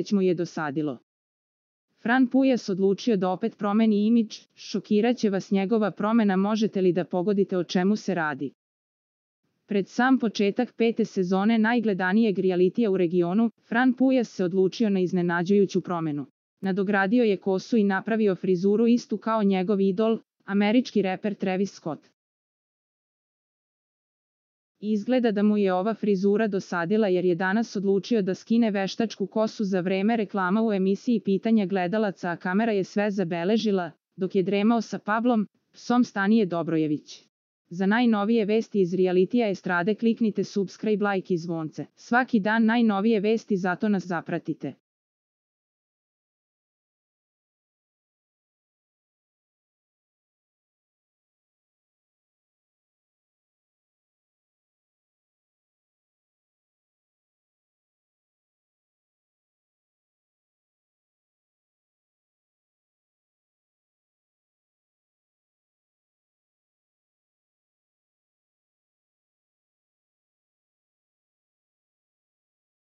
već mu je dosadilo. Fran Pujas odlučio da opet promeni imidž, šokiraće vas njegova promena, možete li da pogodite o čemu se radi? Pred sam početak 5. sezone najgledanijeg realitija u regionu, Fran Pujas se odlučio na iznenađujuću promenu. Nadogradio je kosu i napravio frizuru istu kao njegov idol, američki reper Travis Scott. Izgleda da mu je ova frizura dosadila jer je danas odlučio da skine veštačku kosu za vreme reklama u emisiji Pitanja gledalaca, a kamera je sve zabeležila, dok je dremao sa Pavlom, psom Stanije Dobrojević. Za najnovije vesti iz realitija estrade kliknite subscribe, like i zvonce. Svaki dan najnovije vesti, zato nas zapratite.